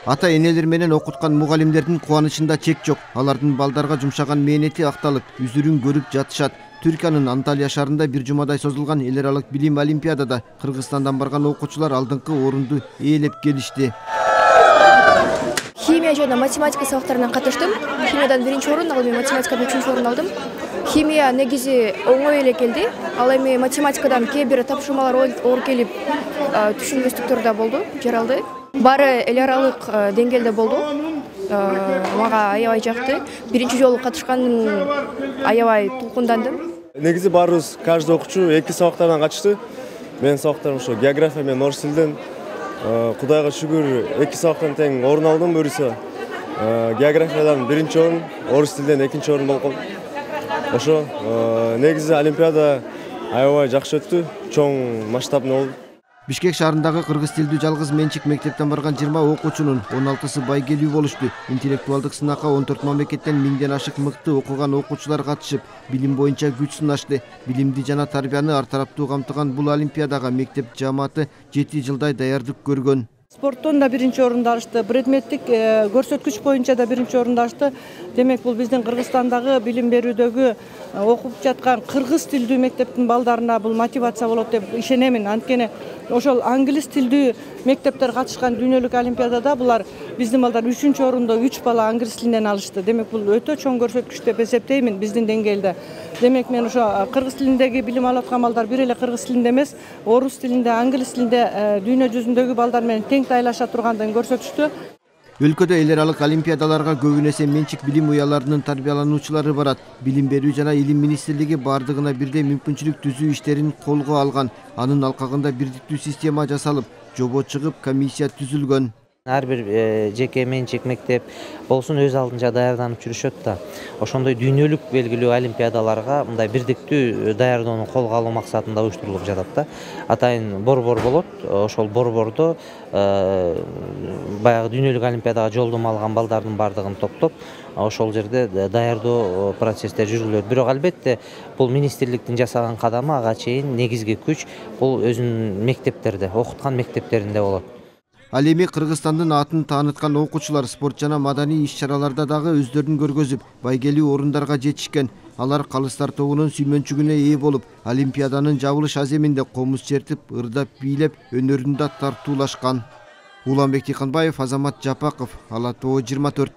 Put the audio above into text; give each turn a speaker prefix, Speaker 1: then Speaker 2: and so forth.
Speaker 1: Ата энелер менен окуткан мугалимдердин кубанычында чек жок. Алардын балдарга жумшаган мээнети акталып, үзүрүн көрүп жатышат. Түркиянын Анталия шаарында бир жумадай созулган эл аралык билим олимпиадада Кыргызстандан барган окуучулар алдыңкы орунду ээлеп келишти.
Speaker 2: Химия жана математика сабактарынан катыштым. Химиядан 1-орун, ал эми математикадан 3-орун алдым. Химия негизи оңой эле келди. Ал эми математикадан кээ бир тапшырмалар оор келип, түшүнбөстүктөр да болду, жаралды. Баары эл аралык деңгээлде болду. Мага аябай жакты. Биринчи жолу катышканым аябай толкундандым.
Speaker 3: Негизи баарыбыз каждый окуучу 2 сабактардан катышты. Менин сабактарым ошо география менен орус тилден. Кудайга шүгүр 2 сабактан тең орун алдым. Буюрса географиядан 1-орун, орус тилден 2-орун болгом. Ошо негизи олимпиада аябай жакшы өттү, чоң масштабный болду.
Speaker 1: Бишкек шаарындагы кыргыз тилдүү жалгыз менчик мектептен барган 20 окуучунун 16сы байгелүү болушту. Интеллектуалдык сынакка 14 мамлекеттен 1000ден ашык мыкты окуган окуучулар катышып, билим боюнча күч сынашты. Билимди жана тарбияны ар тараптуу камтыган бул олимпиадага мектеп жааматы 7 жылдай даярдык көргөн.
Speaker 4: Спорттон да 1-орунду алышты, предметтик көрсөткүч боюнча да 1-орунду алышты. Демек бул биздин Кыргызстандагы билим берүүдөгү окуп жаткан кыргыз тилдүү мектептин балдарына бул мотивация болот деп ишенемин. Анткени ошол англис тилдүү мектептер катышкан дүйнөлүк олимпиадада булар биздин балдар 3-орунду 3 бала англис тилинен алышты. Демек бул өтө чоң көрсөткүч деп эсептеймин биздин деңгээлде. Демек мен ошо кыргыз тилиндеги билим алып аткан балдар бир эле кыргыз тилинде эмес, орус тилинде, англис тилинде дүйнө жүзүндөгү балдар менен тең тайлаша тургандыгын көрсөтүштү.
Speaker 1: Өлкөдө эл аралык олимпиадаларга көбүн эсе менчик билим уяларынын тарбиялануучулары барат. Билим берүү жана илим министрлиги бардыгына бирдей мүмкүнчүлүк түзүү иштерин колго алган. Анын алкагында бирдиктүү система жасалып, жобо чыгып, комиссия түзүлгөн.
Speaker 5: Ар бир жеке менчик мектеп болсун өз алдынча даярданып жүрүшөт да. Ошондой дүйнөлүк белгилүү олимпиадаларга мындай бирдиктүү даярдоону колго алуу максатында уюштурулуп жатат да. Атайын борбор болот. Ошол борбордо баягы дүйнөлүк олимпиадага жолдомо алган балдардын бардыгын топтоп, ошол жерде даярдоо процесстери жүргүзүлөт. Бирок албетте бул министрликтин жасаган кадамы ага чейин негизги күч бул өзүнүн мектептерде, окуткан мектептеринде болот.
Speaker 1: Ал эми Кыргызстандын атын тааныткан окуучулар спорт жана маданий иш-чараларда дагы өздөрүн көргөзүп, байгелүү орундарга жетишкен. Алар калыстар тобунун сүймөнчүгүнө ээ болуп, олимпиаданын жабылыш аземинде комуз чертип, ырдап, бийлеп, өнөрүндө тартуулашкан. Уланбек Тыйканбаев, Азамат Жапаков, Ала Тоо 24.